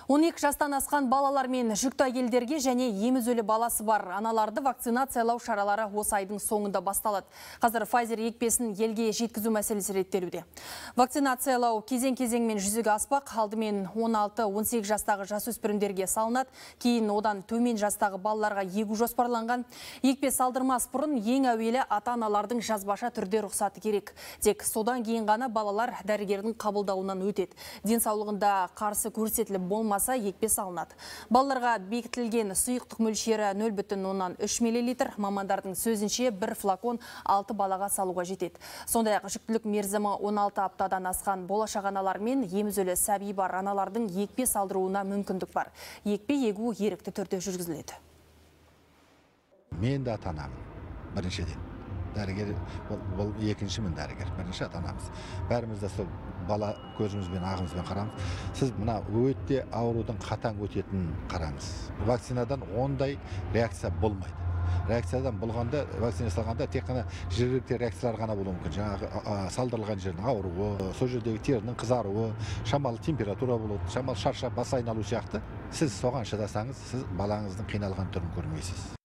12 жастан асқан балалар мен жүкті әйелдерге және емізөлі баласы бар аналарды вакцинациялау шаралары осы айдың соңында басталады. Қазір Pfizer екпесін елге жеткізу мәселесі реттелуде. Вакцинациялау кезең-кезеңмен жүзеге аспақ. Алдымен 16-18 жастағы жасөспірімдерге салынады, кейін одан төмен жастағы балаларға егу жоспарланған. Екпе салдырмас бұрын ең әуелі ата-аналардың жазбаша түрде рұқсаты керек. Тек содан кейін ғана балалар дәрігердің қабылдауынан өтеді. Денсаулығында қарсы көрсетіліп болмаса екпе салынады. Балаларға бекітілген сұйықтық мөлшері 0,3 мл. Мамандардың сөзінше бір флакон 6 балаға салуға жетеді. Сондай-ақ жүктілік мерзімі 16 аптадан асқан болашақ аналар мен емізөлі сәби бар аналардың екпе салдыруына мүмкіндік бар. Екпе егу ерікті түрде жүргізіледі. Мен де ата-анамын, біріншіден. Дәрігер, бұл екіншімін дәрігер, бірінші ата-анамыз. Бәріміз де сол бала көзімізбен, ағымызбен қарамыз. Сіз мына өте аурудың қатаң өтетінін қараңыз. Вакцинадан ондай реакция болмайды. Реакциядан болғанда, вакцина салғанда тек қана жергілікті реакциялар ғана болуы мүмкін. Жаңағы салдырылған жердің ауруы, сол жердегі терінің қызаруы, шамалы температура болады, шамалы шаршап бас айналу сияқты. Сіз соған шыдасаңыз, сіз балаңыздың қиналған түрін көрмейсіз.